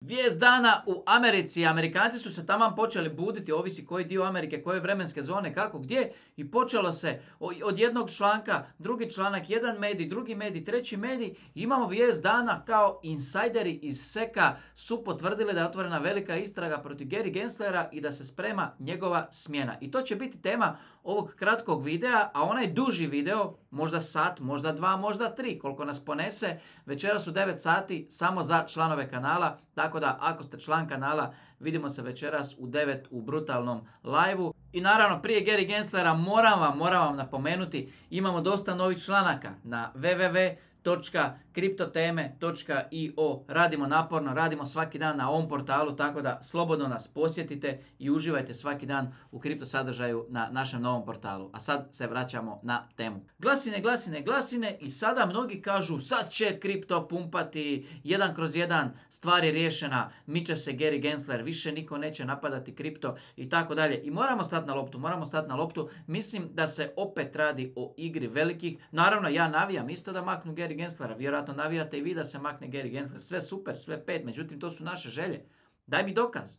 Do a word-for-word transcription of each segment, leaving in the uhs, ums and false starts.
Vijest dana u Americi. Amerikanci su se taman počeli buditi, ovisi koji dio Amerike, koje vremenske zone, kako, gdje. I počelo se od jednog članka, drugi članak, jedan medij, drugi medij, treći medij. Imamo vijest dana kao insajderi iz Seka su potvrdili da je otvorena velika istraga protiv Gary Genslera i da se sprema njegova smjena. I to će biti tema ovog kratkog videa, a onaj duži video, možda sat, možda dva, možda tri, koliko nas ponese, večeras u devet sati samo za članove kanala. Tako da, ako ste član kanala, vidimo se večeras u devet u brutalnom live-u. I naravno, prije Gary Genslera moram vam, moram vam napomenuti, imamo dosta novih članaka na w w w točka kriptoteme točka i o. Radimo naporno, radimo svaki dan na ovom portalu, tako da slobodno nas posjetite i uživajte svaki dan u kripto sadržaju na našem novom portalu. A sad se vraćamo na temu. Glasine, glasine, glasine i sada mnogi kažu sad će kripto pumpati, jedan kroz jedan, stvar je riješena, miče se Gary Gensler, više niko neće napadati kripto i tako dalje. I moramo stati na loptu, moramo stati na loptu. Mislim da se opet radi o igri velikih. Naravno, ja navijam isto da maknu Gary Genslera, vjerojatno navijate i vi da se makne Gary Gensler, sve super, sve pet, međutim to su naše želje. Daj mi dokaz.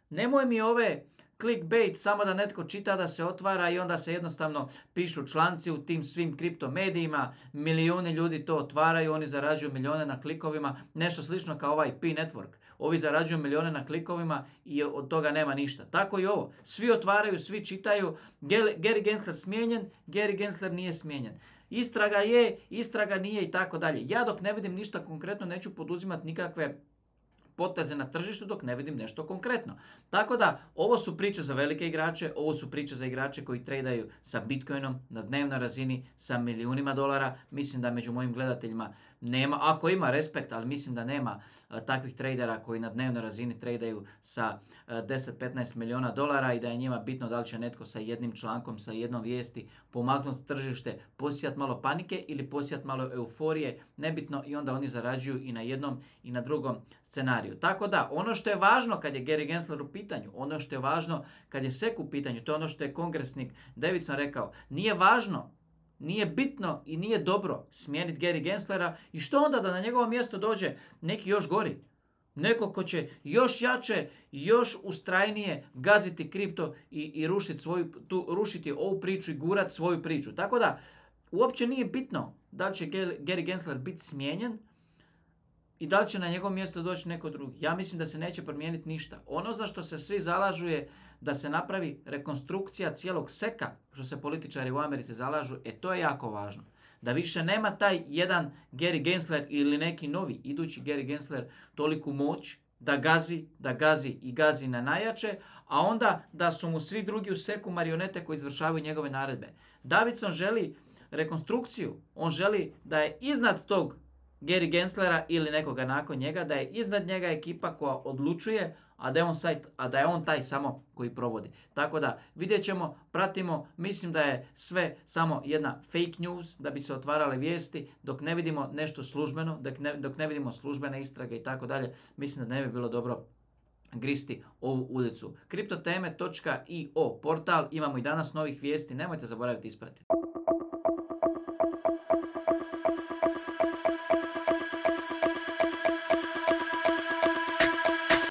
Nemoj mi ove clickbait samo da netko čita da se otvara i onda se jednostavno pišu članci u tim svim kripto medijima, milijuni ljudi to otvaraju, oni zarađuju milijone na klikovima, nešto slično kao ovaj P-Network. Ovi zarađuju milijone na klikovima i od toga nema ništa. Tako i ovo. Svi otvaraju, svi čitaju, Gary Gensler smijenjen, Gary Gensler nije smijenjen. Istraga je, istraga nije i tako dalje. Ja dok ne vidim ništa konkretno neću poduzimati nikakve poteze na tržištu dok ne vidim nešto konkretno. Tako da, ovo su priče za velike igrače, ovo su priče za igrače koji tradaju sa Bitcoinom na dnevnoj razini sa milijunima dolara. Mislim da među mojim gledateljima nema, ako ima respekt, ali mislim da nema a, takvih tradera koji na dnevnoj razini tradaju sa a, deset do petnaest milijuna dolara i da je njima bitno da li će netko sa jednim člankom, sa jednom vijesti pomaknuti tržište, posijati malo panike ili posijati malo euforije, nebitno, i onda oni zarađuju i na jednom i na drugom scenariju. Tako da, ono što je važno kad je Gary Gensler u pitanju, ono što je važno kad je Sek u pitanju, to je ono što je kongresnik Davidson rekao, nije važno, nije bitno i nije dobro smijeniti Gary Genslera i što onda da na njegovo mjesto dođe neki još gori. Neko ko će još jače, još ustrajnije gaziti kripto i, i rušiti, svoju, tu, rušiti ovu priču i gurati svoju priču. Tako da, uopće nije bitno da li će Gary Gensler biti smijenjen i da li će na njegovo mjesto doći neko drugi. Ja mislim da se neće promijeniti ništa. Ono za što se svi zalažu je da se napravi rekonstrukcija cijelog Seka, što se političari u Americi zalažu, e to je jako važno. Da više nema taj jedan Gary Gensler ili neki novi idući Gary Gensler toliku moć da gazi, da gazi i gazi na najjače, a onda da su mu svi drugi u Seku marionete koji izvršavaju njegove naredbe. Davidson želi rekonstrukciju, on želi da je iznad tog Gary Genslera ili nekoga nakon njega, da je iznad njega ekipa koja odlučuje, a da je on, sajt, a da je on taj samo koji provodi. Tako da vidjet ćemo, pratimo, mislim da je sve samo jedna fake news, da bi se otvarale vijesti, dok ne vidimo nešto službeno, dok ne, dok ne vidimo službene istrage i tako dalje, mislim da ne bi bilo dobro gristi ovu ulicu. kriptoteme točka i o portal, imamo i danas novih vijesti, nemojte zaboraviti ispratiti.